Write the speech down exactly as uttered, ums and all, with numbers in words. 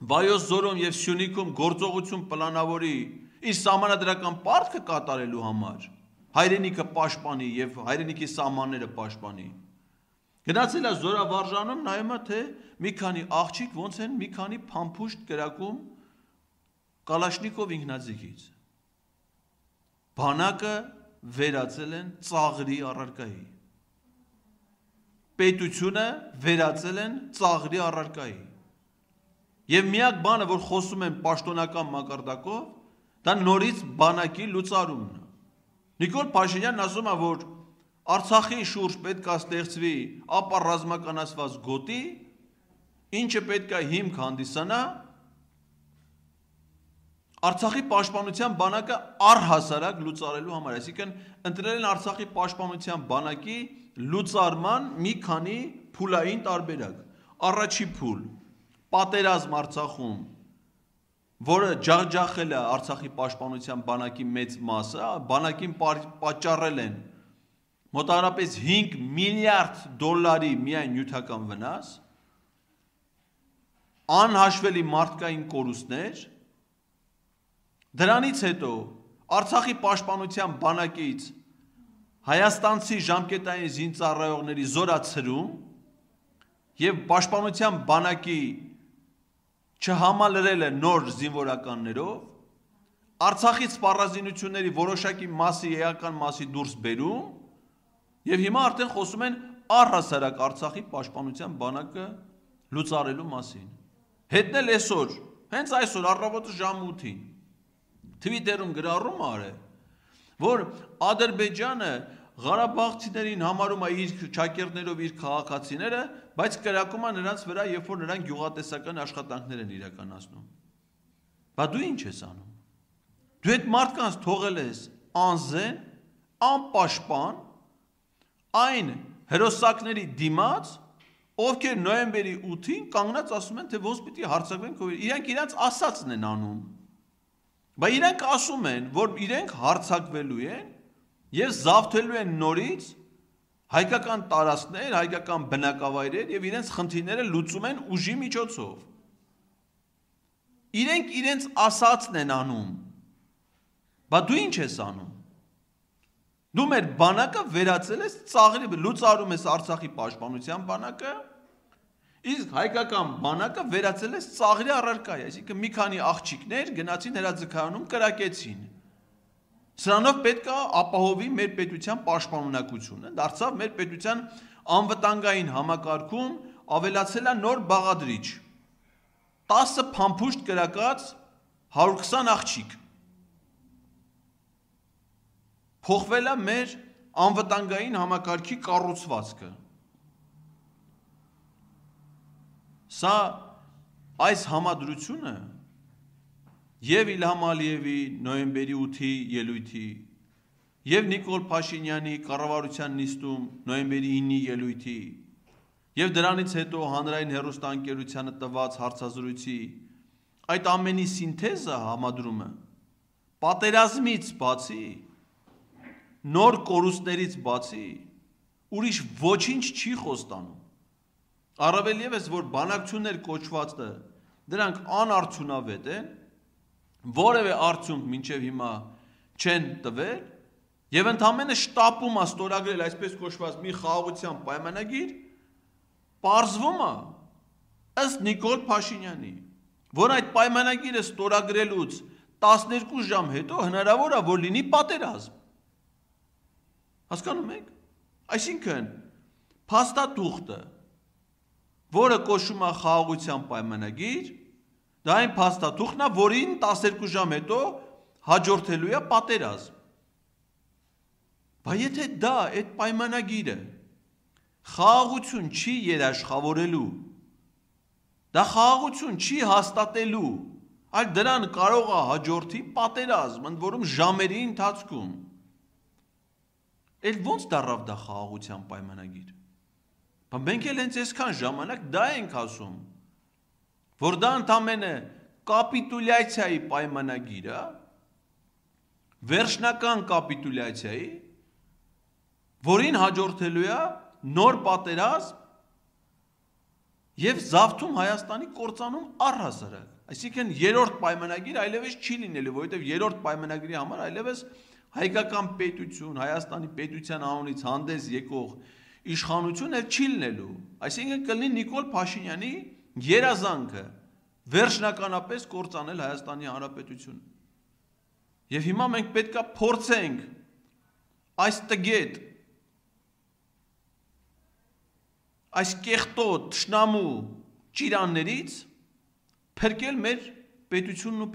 Վայոց ձորում և Սյունիքում գործողություն պլանավորի իր սահմանադրական պարտքը կատարելու համար, հայրենիքը պաշտպանի և հայրենիքի սահմանները պաշտպանի։ Գնացել է զորավարժանում, նայում է, թե մի քանի աղջիկ ոնց են մի քանի փամփուշտ կրակում Կալաշնիկով ինքնաձիգից։ Բանակը վերածել են ծաղրի առարկայի։ Պետությունը վերածել են ծաղրի առարկայի։ Եվ միակ բանը, որ խոսում են պաշտոնական մակարդակով, դա նորից բանակի լուծարումն է։ Նիկոլ Փաշինյանն ասում է, որ Արցախի շուրջ պետք է ստեղծվի ապառազմականացված գոտի, ինչը պետք է հիմք հանդիսանա Արցախի պաշտպանության բանակը առհասարակ լուծարելու համար, այսինքն ընտրել են Արցախի պաշտպանության բանակի լուծարման մի քանի փուլային տարբերակ։ Առաջի փուլ՝ պատերազմ Արցախում, որը ջախջախել է Արցախի պաշտպանության բանակի մեծ մասը, բանակին պատճառել են մոտավորապես հինգ միլիարդ դոլարի միայն նյութական վնաս, անհաշվելի մարդկային կորուստներ։ Դրանից հետո Արցախի պաշտպանության բանակից հայաստանցի ժամկետային զինծառայողների զորացրում և պաշտպանության բանակի չհամալրելը նոր զինվորականներով, Արցախից սպառազինությունների որոշակի մասի էական մասի դուրս բերում և հիմա արդեն խոսում են առհասարակ Արցախի պաշտպանության բանակը լուծարելու մասին։ Հետն էլ այսօր, հենց այսօր առավոտը ժամը ութին Թվիտերում գրառում արել, որ Ադրբեջանը Ղարաբաղցիներին համարում է իր ճակերտներով իր քաղաքացիները, բայց կրակում է նրանց վրա, երբ որ նրանք գյուղատնտեսական աշխատանքներ են իրականացնում։ Բա դու ինչ ես անում։ Դու այդ մարդկանց թողել ես անզեն, անպաշտպան, այն հերոսակների դիմաց, ովքեր նոյեմբերի ութին կանգնած ասում են, թե ոնց պիտի հարձակվենք, իրենք իրենց ասածն են անում։ Բա իրենք ասում են, որ իրենք հարձակվելու են և զավթելու են նորից հայկական տարածքներ, հայկական բնակավայրեր և իրենց խնդիրները լուծում են ուժի միջոցով։ Իրենք իրենց ասածն են անում։ Բա դու ինչ ես անում։ Դու մեր բանակը վերածել ես ծաղրի, լուծարում ես Արցախի պաշտպանության բանակը, իսկ հայկական բանակը վերածել ես ծաղրի առարկայի, այսինքն մի քանի աղջիկներ գնացին հրաձգայանում կրակեցին։ Սրանով պետք է ապահովի մեր պետության պաշտպանունակությունը, դարձավ մեր պետության անվտանգային համակարգում ավելացել է նոր բաղադրիչ։ տասը փամփուշտ կրակած հարյուր քսան աղջիկ։ Փոխվել է մեր անվտանգային համակարգի կառուցվածքը։ Սա այս համադրությունը և Իլհամ Ալիևի նոյեմբերի ութի ելույթի և Նիկոլ Փաշինյանի կառավարության նիստում նոյեմբերի ինի ելույթի և դրանից հետո հանրային հեռուստաընկերությանը տված հարցազրույցի այդ ամենի սինթեզը համադրումը պատերազմից բացի, նոր կորուստներից բացի, ուրիշ ոչինչ չի խոստանում։ Առավել ևս, որ բանակցություններ կոչվածը դրանք անարդյունավետ են, որևէ արդյունք մինչև հիմա չեն տվել և ընդամենը շտապում է ստորագրել այսպես կոչված մի խաղաղության պայմանագիր, պարզվում է ըստ Նիկոլ Փաշինյանի, որ այդ պայմանագիրը ստորագրելուց տասներկու ժամ հետո հնարավոր է, որ լինի պատերազմ։ Հասկանում եք։ Այսինքն փաստաթուղթը, որը կոչվում է խաղաղության պայմանագիր, դա այն փաստաթուղթն է, որին տասներկու ժամ հետո հաջորդելու է պատերազմ։ Բայց եթե դա այդ պայմանագիրը խաղաղություն չի երաշխավորելու, դա խաղաղություն չի հաստատելու, այլ դրան կարող է հաջորդի պատերազմ, ընդ որում ժամերի ընթացքում, էլ ոնց դառավ դա խաղաղության պայմանագիր։ Մենք էլ հենց այսքան ժամանակ դա ենք ասում, որ դա ընդամենը կապիտուլյացիայի պայմանագիր է, վերջնական կապիտուլյացիայի, որին հաջորդելու է նոր պատերազմ եւ զավթում Հայաստանի կործանում առհասարակ։ Այսինքն երրորդ պայմանագիր այլևս չի լինելու, որովհետեւ երրորդ պայմանագրի համար այլևս հայկական պետություն, Հայաստանի պետության անունից հանդես եկող իշխանություն էլ չի լինելու։ Այսինքն կլինի Նիկոլ Փաշինյանի երազանքը վերջնականապես կործանել Հայաստանի Հանրապետությունը։ Եվ հիմա մենք պետք է փորձենք այս տգետ, այս կեղտոտ, թշնամու ճիրաններից փրկել մեր պետությունն ու